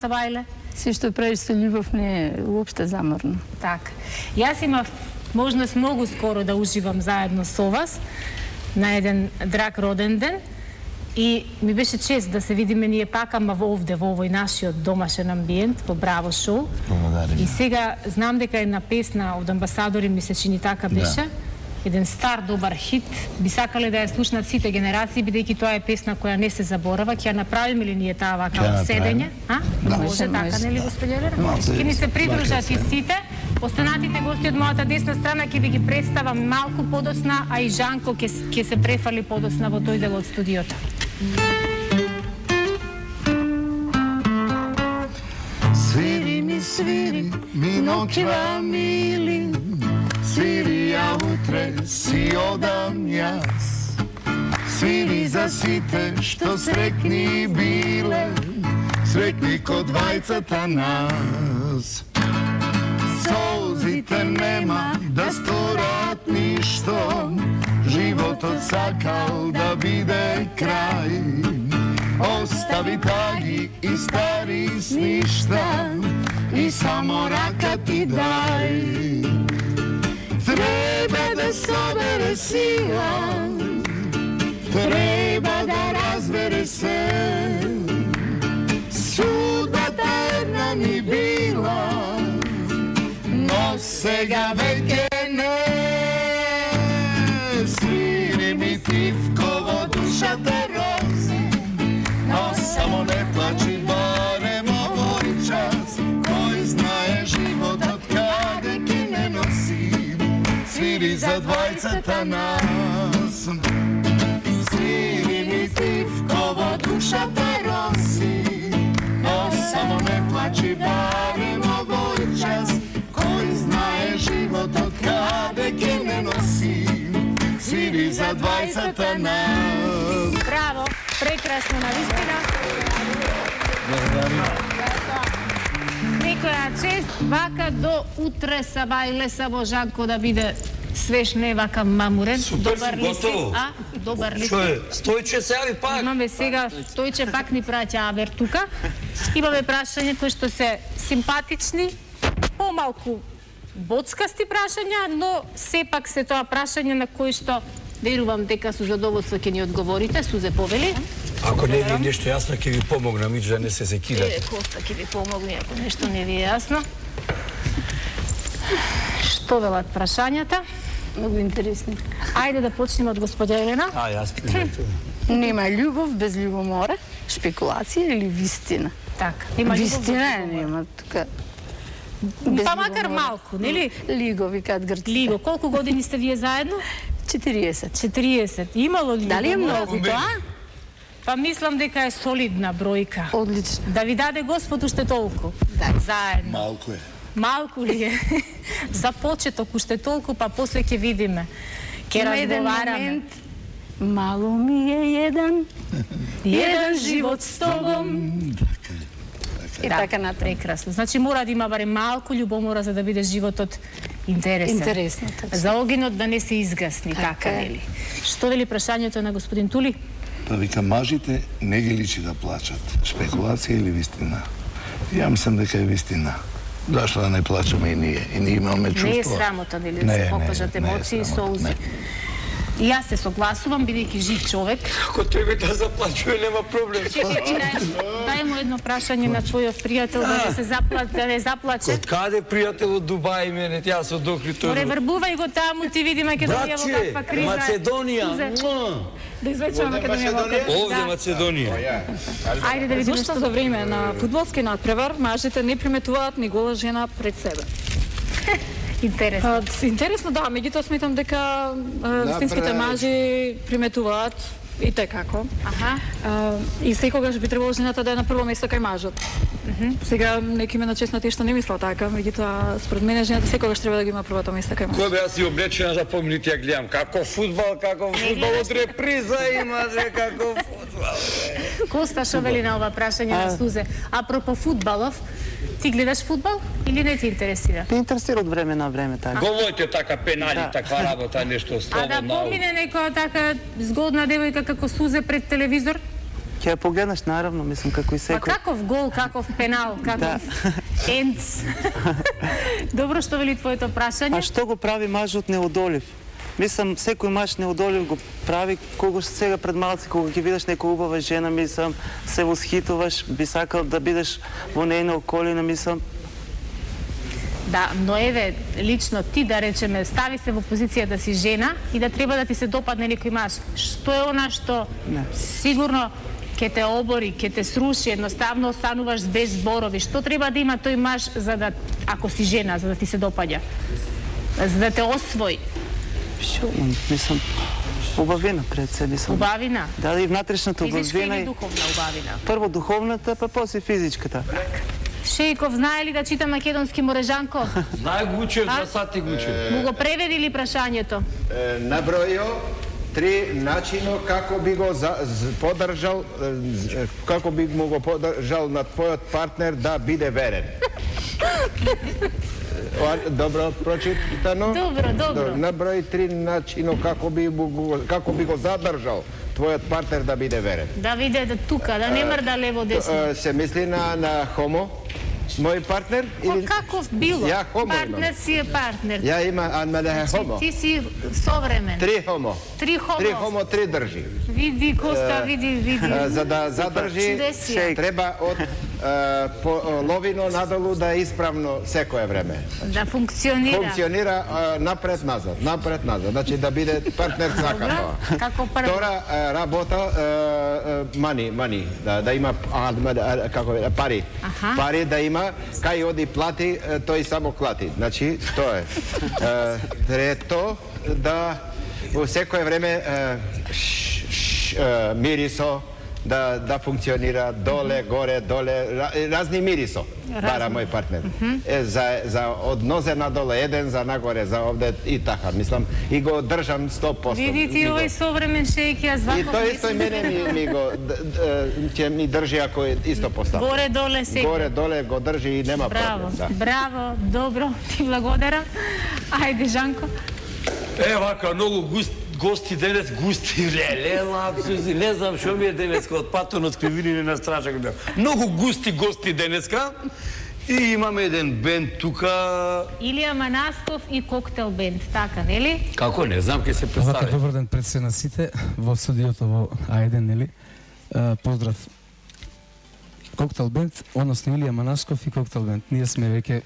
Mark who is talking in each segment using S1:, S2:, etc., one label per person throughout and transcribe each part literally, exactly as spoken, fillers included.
S1: Сабајле?
S2: Се што правиш со љубов не е уопште заморно.
S1: Так. Јас имав можност многу скоро да уживам заедно со вас на еден драг роден ден и ми беше чест да се видиме ние пак, ама овде, во овој нашиот домашен амбиент, во Браво шоу. И сега знам дека една песна од Амбасадори ми се чини така беше. Еден стар добар хит, би сакале да ја слушнат сите генерации, бидејќи тоа е песна која не се заборава. Ќе ја направиме ли ние таа вака од седење? А?
S2: Да.
S1: Може така, нели господи Елена? Ќе ни се придружат и сите. Останатите гости од мојата десна страна ќе ви ги представам малку подоцна, а и Жанко ќе ќе се префали подоцна во тој дел од студиото.
S3: Свири ми, свири, ми ночва мили, свири ја утре си одам јас. Свири за сите што срекни биле, срекни ко двајцата нас. Солзите нема да сторат ништо, животот сакал да биде крај. Остави таги и стари сништа и само рака ти дај. Треба да собере сила, треба да разбере се. Судбата една ни била, но сега веќе не. Свири ми тивко во душата рози, но само не плачи барем овој час. Кој знае животот каде ќе не носи, свири за двајцата нас. Свири ми тивко во душата рози, но само не плачи барем овој час. Кој знае животот каде ќе не носи, свири за двајцата нас.
S1: Браво, прекрасно навистина. Некоја чест, вака до утре Сабајле Саво Жанко да биде свеж, не вака мамурен. Добар ли си? А? Добар ли си?
S4: Стојче се јави пак.
S1: Имаме сега, Стојче пак ни праќа авер тука. Имаме прашања кои што се симпатични, помалку боцкасти прашања, но сепак се тоа прашање на кои што верувам дека со задоволство ќе ни одговорите. Сузе повели.
S4: Ако не ви нешто јасно, ќе ви помогнам, и да не се секирате.
S1: Е, Коста ќе ви помогне, ако нешто не ви е јасно. Што велат прашањата?
S2: Многу интересни.
S1: Ајде да почнеме од господја Елена.
S4: А, јас прижатувам.
S2: Нема љубов без љубомора, шпекулација или вистина?
S1: Така, има
S2: Вистина нема тука.
S1: Па макар малку, нели?
S2: Лиго викаат грците.
S1: Лиго, колку години сте вие заедно?
S2: четириесет.
S1: четириесет. Имало ли?
S2: Дали е многу тоа?
S1: Па мислам дека е солидна бројка.
S2: Одлично.
S1: Да ви даде Господ уште толку.
S2: Да.
S1: Заедно.
S3: Малку е.
S1: Малку ли е? За почеток уште толку, па после ќе видиме. Ќе разговараме.
S2: Мало ми е еден,
S1: Еден живот с тобом.
S2: и така натаму.
S1: Прекрасно. Значи мора да има барем малку љубомора за да биде животот интересен.
S2: Интересно, така.
S1: За огинот да не се изгасни,
S2: Така
S1: така
S2: е.
S1: нели? Што вели прашањето на господин Тули?
S3: Па вика, мажите не ги личи да плачат. Шпекулација или вистина? Ја мислам дека е вистина. Зашто да не плачаме и ние? И ние имаме чувство.
S1: Не е срамота, нели, да се покажат емоции и солзи. И јас се согласувам, бидејќи жив човек.
S4: Ако треба да заплачува, нема проблем.
S1: Дај му едно прашање на твојот пријател да не се заплаче, да не заплаче.
S4: Од каде пријател од Дубај мене, тя со докли тој.
S1: Преврбувај го таму, ти види Македонија во каква криза.
S4: Македонија.
S5: Да извлечеме Македонија во криза.
S4: Овде Македонија.
S1: Ајде да видиме
S5: Зошто
S1: што
S5: за време на фудбалски надпревар мажите не приметуваат ни гола жена пред себе?
S1: интересно.
S5: А, интересно, да, меѓутоа сметам дека вистинските мажи приметуваат и те како.
S1: Аха.
S5: А, и секогаш би требало жената да е на прво место кај мажот. Сега некои ме на чест на тие што не мислат така, меѓутоа според мене жената секогаш треба да ги има првото место кај мажот.
S4: Кој бе јас си облечена за помните ја гледам како фудбал, како фудбал од реприза има се како фудбал.
S1: Коста, што вели на ова прашање на Сузе? Апропо фудбалов, ти гледаш фудбал или не ти интересира?
S6: Ме интересира од време на време така.
S4: Голојте така пенали, таква работа, нешто
S1: А
S4: слободно.
S1: да помине некоја така згодна девојка како Сузе пред телевизор?
S6: Ќе ја погледнаш наравно, мислам како и
S1: Па
S6: секој.
S1: каков гол, каков пенал, каков енц. Добро што вели твоето прашање.
S6: А што го прави мажот неодолив? Мислам, секој маж неодолив го прави кога сега пред малци, кога ќе видиш некоја убава жена, мислам, се восхитуваш, би сакал да бидеш во нејна околина, мислам.
S1: Да, но еве, лично ти да речеме, стави се во позиција да си жена и да треба да ти се допадне некој маж. Што е она што
S6: Не.
S1: сигурно ќе те обори, ќе те сруши, едноставно остануваш без зборови. Што треба да има тој маж за да, ако си жена, за да ти се допаѓа? За да те освои.
S6: Шо, мислам, убавина пред се, мислам.
S1: Убавина.
S6: Да, и внатрешната
S1: Физичка
S6: убавина.
S1: или
S6: и-
S1: духовна убавина?
S6: Прво духовната, па после физичката.
S1: Шејков, знае ли да чита македонски Морежанко?
S4: Знае го учев
S1: А?
S4: за сати го учев.
S1: Му го преведи ли прашањето?
S7: Е, набројо три начино како би го за, з, подржал, е, з- како би му го подржал на твојот партнер да биде верен. Ова, Добро прочитано?
S1: Добро, добро.
S7: Наброј три начино како би, му го, како би го задржал твојот партнер да биде верен.
S1: Да виде да тука, да не мрда лево десно.
S7: Е, Се мисли на, на хомо, мој партнер?
S1: Ко каков било?
S7: Ја хомо
S1: Партнер си е партнер.
S7: Ја има, а ме да е хомо.
S1: Ти си современ.
S7: Три хомо.
S1: Три хомо.
S7: Три хомо, три држи.
S1: Види, Коста, види, види.
S7: Е, За да задржи,
S1: Чудесија.
S7: треба од е, по, ловино надолу да е исправно секое време.
S1: Да функционира.
S7: Функционира е, напред-назад, напред-назад. Значи да биде партнер сака
S1: Добро.
S7: тоа.
S1: Како прво.
S7: Втора е, работа, е, е, мани, мани, да, да има а, а, како е, пари.
S1: Аха.
S7: Пари да има, кај оди плати, е, тој само клати. Значи, тоа е. Е, Трето, да во секое време е, ш, ш, е, мирисо, да, да функционира доле, горе, доле, ра- разни мирисо. Бара мој партнер. Е, за, за од нозе надоле еден, за нагоре, за овде и така. Мислам, и го држам сто посто.
S1: Види ти
S7: Ми го-
S1: овој современ шејки, јас
S7: И
S1: ваков
S7: тој
S1: не
S7: исто и
S1: сум.
S7: мене ми, ми го д- д- ќе ми држи ако е исто постави.
S1: Горе, доле, сега.
S7: Горе, доле го држи и нема
S1: Браво,
S7: проблем. Да.
S1: браво, добро, ти благодарам. Ајде, Жанко.
S4: Е, вака, многу густ, гости денес, густи, леле, лапсуси, не знам што ми е денеска, од патон од кривини на страшак бев. Многу густи гости денеска и имаме еден бенд тука.
S1: Илија Манасков и Коктел бенд, така, нели?
S4: Како, не знам, ке се
S8: Вака,
S4: представи.
S8: добар ден пред се на сите во студиото во А еден, нели? А, поздрав. Коктел бенд, односно Илија Манасков и Коктел бенд. Ние сме веќе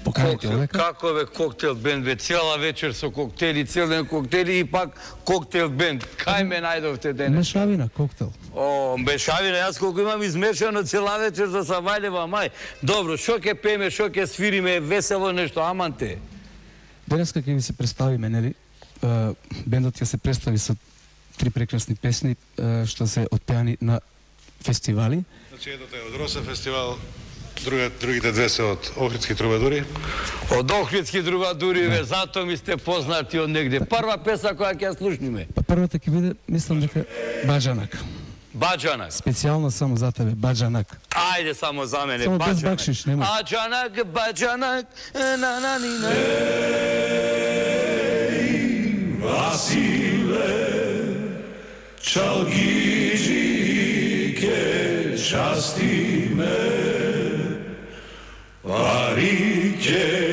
S8: поканети
S4: Коктел,
S8: овека.
S4: како бе коктел бенд, бе, цела вечер со коктели, цел ден коктели и пак коктел бенд. Кај ме најдовте денес?
S8: Мешавина, коктел.
S4: О, мешавина, јас колку имам измешано цела вечер за Савајлева мај. Добро, шо ќе пееме, шо ќе свириме, весело нешто, аманте.
S8: Денеска ќе ви се представиме, нели? А, бендот ќе се представи со три прекрасни песни а, што се отпеани на фестивали.
S9: Значи, едната е од Роса фестивал, друга, другите две се од Охридски трубадури.
S4: Од Охридски трубадури, ве, зато ми сте познати од негде. Прва песна која ќе ја слушниме.
S8: Па првата ќе биде, мислам дека Баџанак.
S4: Баџанак.
S8: Специјално само за тебе, Баџанак.
S4: Ајде само за мене,
S8: Само без
S4: Баџанак.
S8: бакшиш, нема.
S4: Аџанак, Баџанак, на на ни на.
S10: Vasile, čalgiđike časti me, parike